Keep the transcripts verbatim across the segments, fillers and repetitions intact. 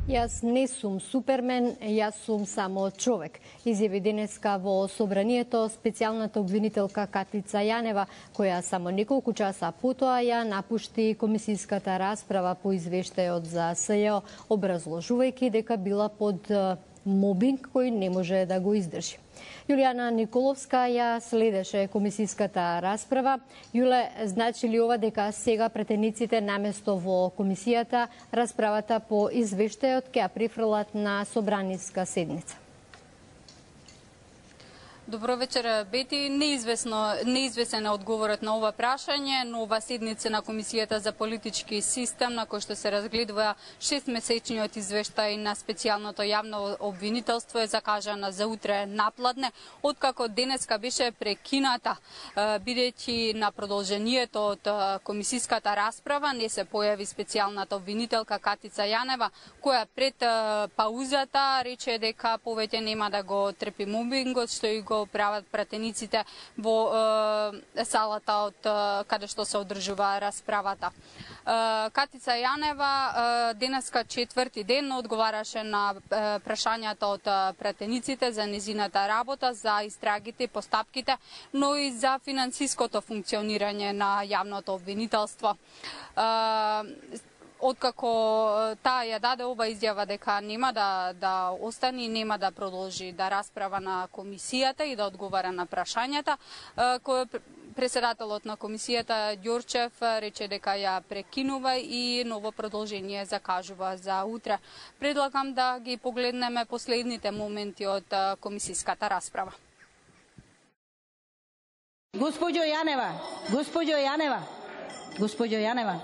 Јас не сум супермен, јас сум само човек, изјави денеска во собранието специјалната обвинителка Катица Јанева, која само неколку часа потоа ја напушти комисиската расправа по извештајот за СЈО, образложувајќи дека била под мобинг кој не може да го издржи. Јулијана Николовска ја следеше комисиската расправа. Јуле, значи ли ова дека сега претениците наместо во комисијата расправата по извештајот ќе ја префрлат на собраниска седница? Добро вечер, Бети. Неизвестно, неизвесен е одговорот на ова прашање, но ова седница на Комисијата за политички систем, на кој што се разгледува шестмесечниот извештај на специјалното јавно обвинителство, е закажана за утре напладне, откако денеска беше прекината, бидејќи на продолжението од комисиската расправа не се појави специјалната обвинителка Катица Јанева, која пред паузата рече дека повеќе нема да го трпи мобингот, што и го прават пратениците во е, салата од е, каде што се одржува расправата. Е, Катица Јанева е, денеска четврти ден одговараше на е, прашањата од пратениците за незината работа, за истрагите, постапките, но и за финансиското функционирање на јавното обвинителство. Е, Откако таа ја даде ова изјава дека нема да, да остани, нема да продолжи да расправа на комисијата и да одговара на прашањата, кој председателот на комисијата Ѓорчев рече дека ја прекинува и ново продолжение закажува за утре. Предлагам да ги погледнеме последните моменти од комисиската расправа. Госпоѓо Јанева, госпоѓо Јанева, госпоѓо Јанева.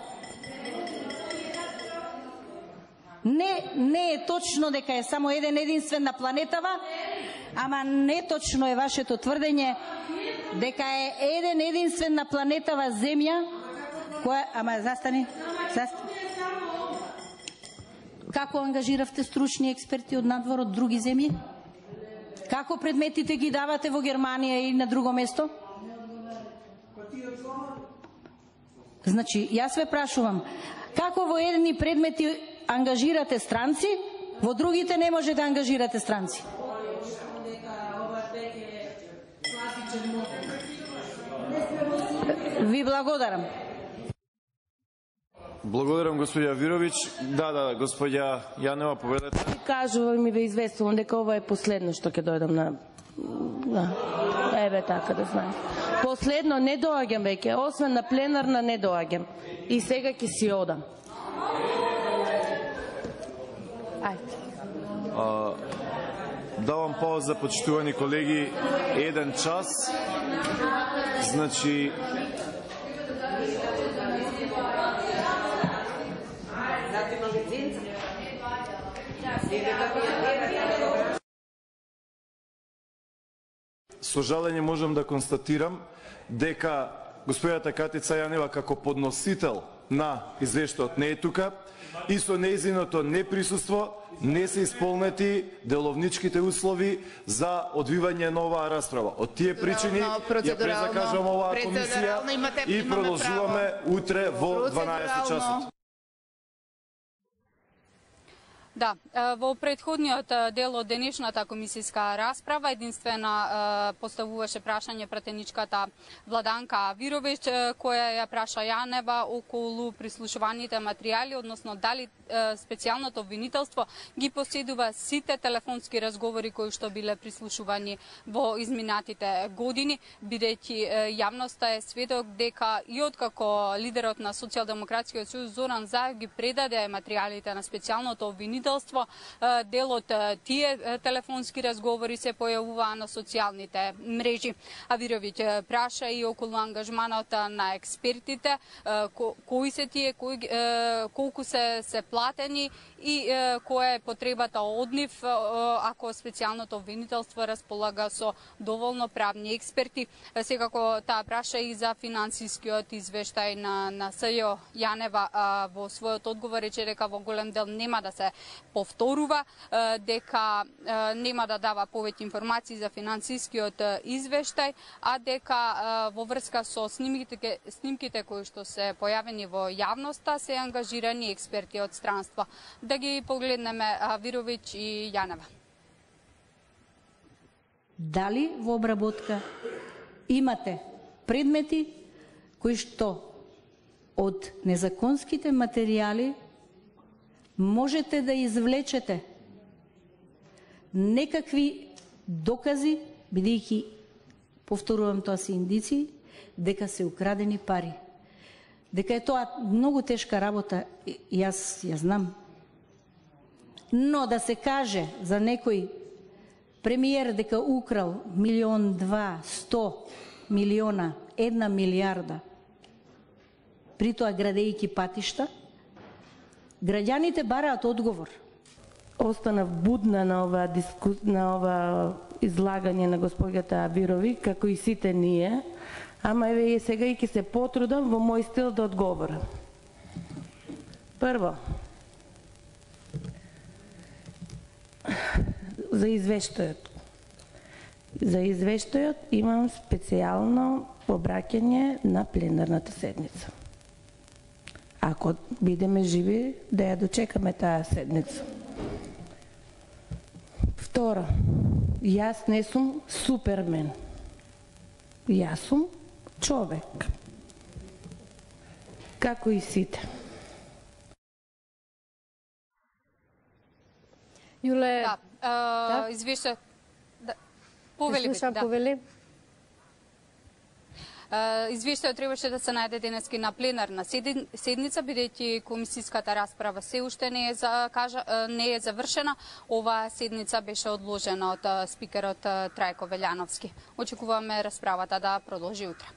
Не, не е точно дека е само еден единствен на планетава, ама неточно е вашето тврдење дека е еден единствен на планетава Земја, која, ама застани, застани. Како ангажиравте стручни експерти од надвор од други земји? Како предметите ги давате во Германија и на друго место? Значи, јас ве прашувам, како во едни предмети ангажирате странци, во другите не може да ангажирате странци? Ви благодарам. Благодарам, господја Вировиќ. Да, да, господја Јанева, поведете. Кажувам и ве известувам дека ова е последно што ќе дојдам на... Да. Еве така да знаем. Последно не доаѓам веќе, освен на пленарна не доаѓам. И сега ќе си одам. А, давам пауза, почитувани колеги, еден час. Значи, со жалење можам да констатирам дека господјата Катица Јанева како подносител на извештајот не е тука и со нејзиното неприсуство не се исполнети деловничките услови за одвивање на оваа расправа. Од тие причини ја презакажувам оваа комисија и продолжуваме утре во дванаесет часот. Да, во претходниот дел од денешната комисиска расправа единствена поставуваше прашање пратеничката Владанка Вировиќ, која ја праша Јанева околу прислушуваните материјали, односно дали специјалното обвинителство ги поседува сите телефонски разговори кои што биле прислушувани во изминатите години, бидејќи јавноста е сведок дека и откако лидерот на Социјалдемократскиот сојуз Зоран Заев ги предаде материјалите на специјалното обвинителство, дел од тие телефонски разговори се појавуваа на социјалните мрежи. А Вировиќ праша и околу ангажманот на експертите, кои се тие, кои, колку се, се платени и која е потребата од нив ако специјалното обвинителство располага со доволно правни експерти. Секако таа праша и за финансискиот извештај на, на СЈО. Јанева во својот одговор рече дека во голем дел нема да се повторува дека нема да дава повеќе информации за финансискиот извештај, а дека во врска со снимките, снимките кои што се појавени во јавноста се ангажирани експерти од странство. Да ги погледнеме Вировиќ и Јанева. Дали во обработка имате предмети кои што од незаконските материјали можете да извлечете некакви докази, бидејќи, повторувам, тоа се индици, дека се украдени пари. Дека е тоа многу тешка работа, јас ја знам. Но да се каже за некој премиер дека украл милион, два, сто милиона, една милиарда, при тоа градејќи патишта, граѓаните бараат одговор. Останав будна на ова, диску... на ова излагање на госпоѓата Вировиќ, како и сите ние, ама еве сега и ќе се потрудам во мој стил да одговорам. Прво, за извештајот. За извештајот имам специјално обраќање на пленарната седница. Ако бидеме живи, да ја дочекаме таа седница. Второ, јас не сум супермен. Јас сум човек. Како и сите. Јуле, да, извише, да, повели, да. повели. Извештајот требаше да се најде денески на пленарна седница, бидејќи комисиската расправа се уште не е, закажа, не е завршена. Оваа седница беше одложена од спикерот Трајко Велјановски. Очекуваме расправата да продолжи утре.